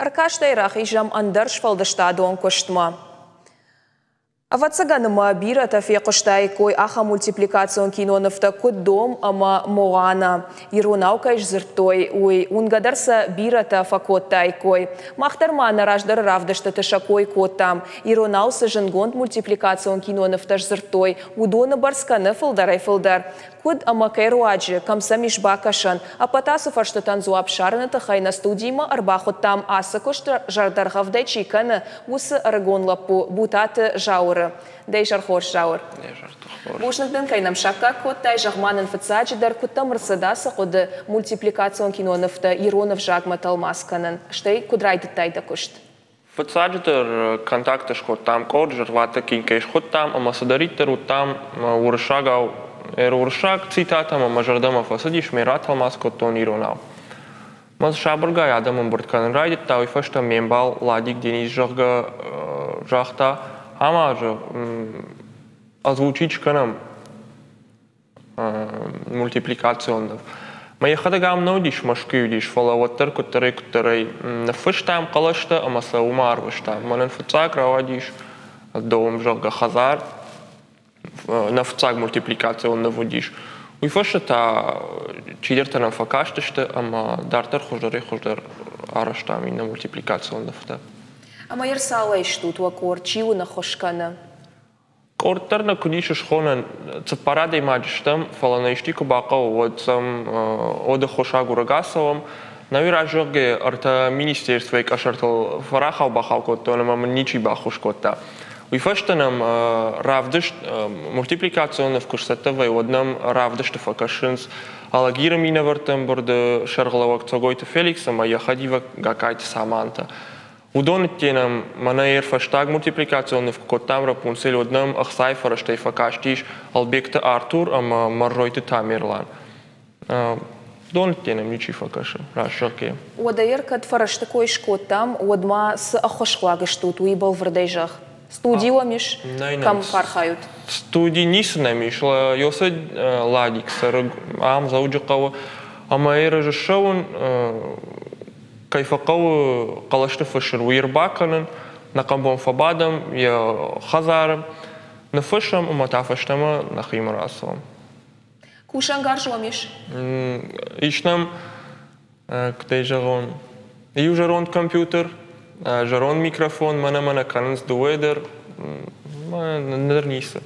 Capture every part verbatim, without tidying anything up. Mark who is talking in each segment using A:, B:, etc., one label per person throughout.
A: Ӕркастӕй рахизӕм ӕндӕр сфӕлдыстадон куыстмӕ. Ӕвӕццӕгӕн ма бирӕтӕ фехъуыстаиккой ахӕм мультипликацион кинонывтӕ, куыд «Дом» ӕмӕ «Моана». Иронау кӕй сдзырдтой, уый уынгӕ дӕр сӕ бирӕтӕ фӕкодтаиккой. Мах дӕр ма нӕ раздӕры равдыстыты сӕ кой кодтам. Иронау цы зындгонд мультипликацион кинонывтӕ сдзырдтой, уыдоны бӕрц кӕны фылдӕрӕй-фылдӕр. Куыд ӕмӕ кӕй руаджы, кӕм сӕм ис бакӕсӕн? Ӕппӕт ацы фӕрстытӕн дзуапп ссарыны тыххӕй нӕ студимӕ ӕрбахуыдтам, ацы куыст зӕрдӕргъӕвдӕй чи кӕны, уыцы ӕрыгон лӕппу Бутаты Зауыры. Дӕ изӕр хорз, Зауыр. Бузныг дын, кӕй нӕм саккаг кодтай. Зӕгъ-ма нын фыццаджыдӕр, куыд дӕм ӕрцыд ацы хъуыды мультипликацион кинонывтӕ ирон ӕвзагмӕ тӕлмац кӕнын, стӕй куыд райдыдтай дӕ куыст?
B: Фыццаджыдӕр контакты скодтам къорд, зӕрватыкк кӕй схуыдтам, ӕмӕ цыдӕриддӕр уыдтам уырыссагау, уырыссаг цитатӕ мӕ зӕрдӕмӕ фӕцыдис, ме ратӕлмац кодтон иронау. Мӕ сабыргай адӕм ӕмбырд кӕнын райдыдта, уый фӕстӕ ме мбал Ладик Денис, зӕгъгӕ, загъта, ӕмӕ озвучить кӕнӕм мультипликацион ныв. Мӕ йӕхӕдӕг ам нӕ уыдис, Мӕскуыйы уыдис, фӕлӕ уӕддӕр куыддӕрӕй-куыддӕрӕй ныффыстам хъӕлӕстӕ ӕмӕ сӕ уымӕ арвыстам. Мӕнӕн фыццаг рауадис «Дом», зӕгъгӕ, хӕдзар, нӕ фыццаг мультипликацион ныв уыдис. Уый фӕстӕ та чидӕртӕ нӕм фӕкастысты ӕмӕ дарддӕр хуыздӕрӕй-хуыздӕр арӕзтам иннӕ мультипликацион нывтӕ.
A: Ӕмӕ ӕрцалӕй стут уӕ къорд, чи уын ӕххуыс кӕны?
B: Къорд дӕр нӕ куыд ис схонӕн, цыппар адӕймаджы стӕм, фӕлӕ нӕ исти куы бахъӕуы, уӕд сӕм уӕд ӕххуыс агурӕг ацӕуӕм. Нӕуи разӕгъгӕ ӕртӕ министерствойы къӕсӕртыл фӕрахау-бахау кодтон ӕмӕ мын ничи баххуыс кодта. Уый фӕстӕ нӕм равдыст, мультипликацион ныв куы сцӕттӕ вӕййы, уӕд нӕм равдысты фӕкӕсынц Алагиры минӕвӕртты ӕмбырды сӕргълӕууӕг Цогойты Феликс ӕмӕ йӕ хӕдивӕг Гакайты Саманта. Уыдон нӕм мӕнӕ йӕ фӕстаг мультипликацион ныв куы кодтам «Рапунцель», уӕд нӕм ӕхцайы фӕрӕзтӕй фӕкастис Албегты Артур ӕмӕ Мӕрзойты Тамерлан. Уыдон нӕм ничи фӕкӕсы, раст зӕгъгӕйӕ.
A: Уӕдӕ кӕд фӕрӕзты кой скодтам, уӕд ма цы ӕххуысхъуаг стут, уый бӕлвырдӕй зӕгъ. Студи уӕм ис, кӕм фӕархайут?
B: Студи ницы нӕм ис. Йосы Ладик цӕры ам Дзӕуджыхъӕуы ӕмӕ йӕ режиссерон кӕй фӕхъӕуы хъӕлӕсты фыссын, уый ӕрбакӕнын, нӕ хъӕбон фӕбадӕм йӕ хӕдзары, ныффыссӕм ӕмӕ та фӕстӕмӕ нӕхимӕ рацӕуӕм.
A: Кусӕнгарз уӕм ис?
B: Ис нӕм, куыдӕй зӕгъон, иу зӕронд компьютер, зӕронд микрофон, мӕнӕ-мӕнӕ кӕнынц дыууӕ дӕр, ныр ницы.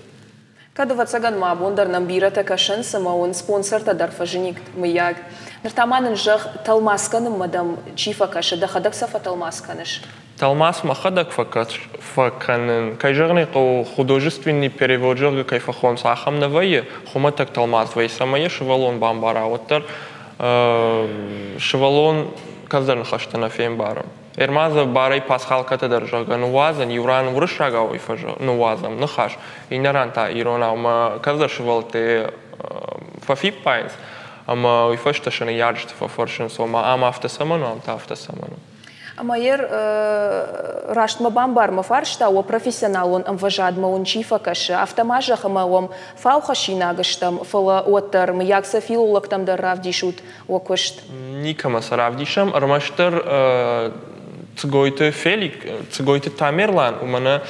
A: Кӕд, ӕвӕццӕгӕн ма абон дӕр нӕм бирӕтӕ кӕсынц ӕмӕ уын спонсортӕ дӕр фӕзыникт, мыййаг. Ныр та ма нын зӕгъ, тӕлмац кӕнынмӕ дӕм чи фӕкӕсы, дӕхӕдӕг сӕ фӕтӕлмац кӕныс?
B: Тӕлмац мӕхӕдӕг фӕкӕнын. Кӕй зӕгъын ӕй хъӕуы, художественный перевод, зӕгъгӕ, кӕй фӕхонынц, ахӕм нӕ вӕййы, хуымӕтӕг тӕлмац вӕййы, цӕмӕй йӕ сывӕллон бамбара, уӕддӕр сывӕллон кӕцыдӕр ныхӕстӕ нӕ фембары. Ӕрмадзы барӕй пасхалкӕтӕ дӕр, зӕгъгӕ, ныууадзӕн, иу ран уырыссагау ныууадзӕм ныхас, иннӕ ран та иронау, ӕмӕ кӕцыдӕр сывӕллӕттӕ фӕфиппайынц, ӕмӕ уый фӕстӕ сӕ ныййарджыты фӕфӕрсынц, ома ам афтӕ цӕмӕн у, ам та афтӕ цӕмӕн у.
A: Ӕмӕ йӕ рӕстмӕ бамбар мӕ фарста, уӕ профессионалон ӕмвӕзадмӕ уын чи фӕкӕсы, афтӕ ма зӕгъ, ӕмӕ уӕм фаухӕссинаг стӕм, фӕлӕ уӕддӕр, мыййаг сӕ филологтӕм дӕр равдисут уӕ куыст?
B: Никӕмӕ сӕ равдисӕм, ӕрмӕстдӕр Цгойты Фелик, Цгойты Тамерлан, уымӕн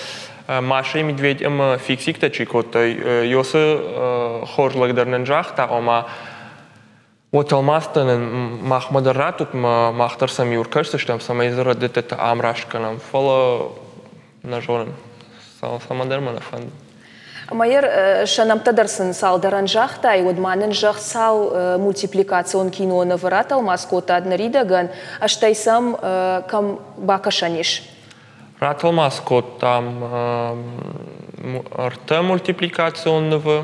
B: Маша и Медведь ӕмӕ Фиксиктӕ чи кодтой, Йосы хорз лӕг дӕр нын загъта, ома уӕ тӕлмацтӕ нын махмӕ дӕр раттут, мах дӕр сӕм иу ӕркӕсдзыстӕм, цӕмӕй дзы рӕдыдтытӕ ӕмраст кӕнӕм. Фӕлӕ нӕ зонын, цӕмӕндӕр мӕ нӕ фӕнды.
A: Ӕмӕ йӕ сӕ нӕмттӕ дӕр сын цалдӕрӕн загътай, уӕд ма нын зӕгъ, цал мультипликацион кинонывы ратӕлмац кодтат ныридӕгӕн, стӕй сӕм кӕм бакӕсӕн ис?
B: Ратӕлмац кодтам ӕртӕ мультипликацион нывы.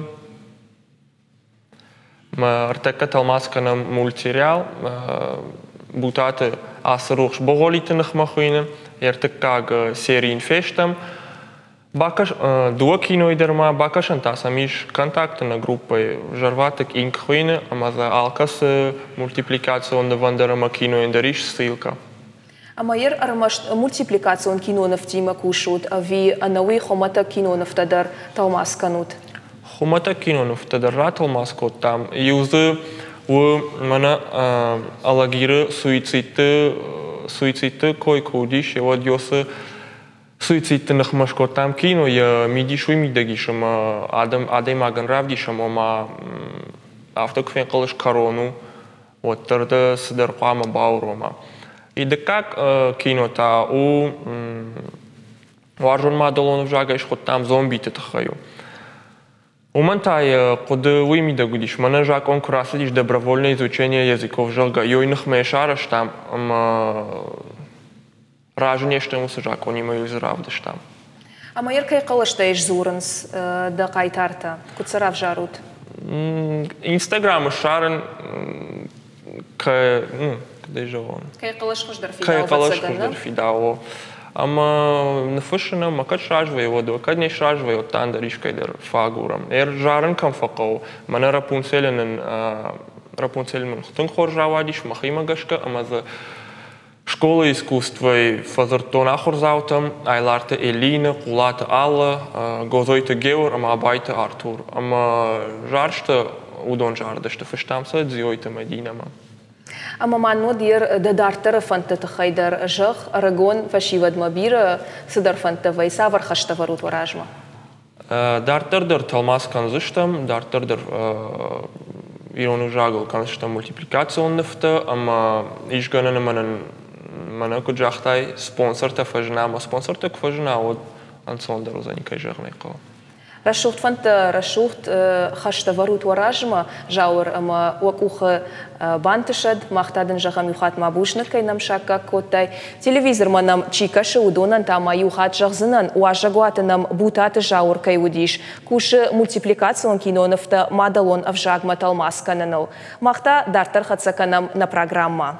B: Ӕртӕккӕ тӕлмац кӕнӕм мультсериал Бутаты Ацырухс Богъолиты ныхмӕ хуыйны, ӕртыккаг серийын фестӕм. Бакӕс, дыууӕ кинойы дӕр ма бакӕсӕн та сӕм ис контакты нӕ группӕйы, Зӕрватыкк Инк хуыйны, ӕмӕ дзы алкӕцы мультипликацион нывӕн дӕр ӕмӕ кинойӕн дӕр ис ссылкӕ.
A: Ӕмӕ йӕ ӕрмӕст мультипликацион кинонывтимӕ кусут, ӕви ӕнӕуый хуымӕтӕг кинонывтӕ дӕр тӕлмац кӕнут?
B: Хуымӕтӕг кинонывтӕ дӕр ратӕлмац кодтам. Иу дзы у мӕнӕ Алагиры суицидты Суицидты кой куы уыдис, уӕд йосы суицидты ныхмӕ скодтам кино, йӕ мидис уый мидӕг ис, ӕмӕ адӕм адӕймагӕн равдисӕм, ома афтӕ куы фенхъӕлыс кӕрон у, уӕддӕр дӕ цыдӕр хъуамӕ баурома. И дыккаг кино та у уарзон мадӕлон ӕвзагӕй схуыдтам зомбиты тыххӕй у. Уымӕн та йӕ хъуыды уый мидӕг уыдис, мӕнӕ закъон куы рацыдис добровольное изучение языков, зӕгъгӕ, йой ныхмӕ сарӕзтам ӕмӕ разы не стӕм уыцы закъонимӕ, йой дзы равдыстам.
A: Ӕмӕ йӕ кӕй хъӕлӕстӕй сдзурынц дӕ хъайтартӕ? Куыд сӕ равзарут?
B: Инстаграмы ссарын кӕй, ну, куыдӕй зӕгъон?
A: Кӕй хъӕлӕс хуыздӕр фидауы,
B: Кӕй хъӕлӕс хуыздӕр фидауы. Ӕмӕ ныффыссын ӕмӕ кӕд сразы вӕййы, уӕд, кӕд не сразы вӕййы, уӕд та ӕндӕр искӕй дӕр фӕагурӕм. Ӕр зарын кӕм фӕхъӕуы, мӕнӕ Рапунцелы нын Рапунцель мын тынг хорз рауадис мӕхимӕ гӕсгӕ, ӕмӕ дзы школа искусствойы фӕдзырдтон ахуырдзаутӕм Айларты Элины, Хъулаты Алла, Гозойты Геор ӕмӕ Абайты Артур. Ӕмӕ зарджытӕ уыдон зарыдысты, фыстам сӕ Дзиойты Мӕдинӕмӕ.
A: Ӕмӕ ма нод дӕ дарддӕры фӕндты тыххӕй дӕр зӕгъ, ӕрыгон фӕсивӕдмӕ бирӕ цыдӕр фӕндтӕ вӕййы, цавӕр хӕстӕ вӕрут уӕ размӕ?
B: Дарддӕр дӕр тӕлмац кӕндзыстӕм, дарддӕр дӕр ирон ӕвзагыл кӕндзыстӕм мультипликацион нывтӕ ӕмӕ ис гӕнӕн ӕмӕ нын мӕнӕ куыд загътай, спонсортӕ фӕзына, ӕмӕ спонсортӕ куы фӕзына, уӕд ӕнцондӕр уыдзӕни, кӕй зӕгъын ӕй хъӕуы.
A: Рӕсугъд фӕндтӕ, рӕсугъд хӕстӕ вӕрут уӕ размӕ, Зауыр, ӕмӕ уӕ къухы бантысӕд. Мах та дын зӕгъӕм иу хатт ма бузныг, кӕй нӕм саккаг кодтай. Телевизормӕ нӕм чи кӕсы, уыдонӕн та ма иу хатт зӕгъдзынӕн, уазӕгуаты нӕм Бутаты Зауыр кӕй уыдис. Кусы мультипликацион кинонывтӕ мадӕлон ӕвзагмӕ тӕлмац кӕныныл. Мах та дарддӕр хӕццӕ кӕнӕм нӕ программӕ.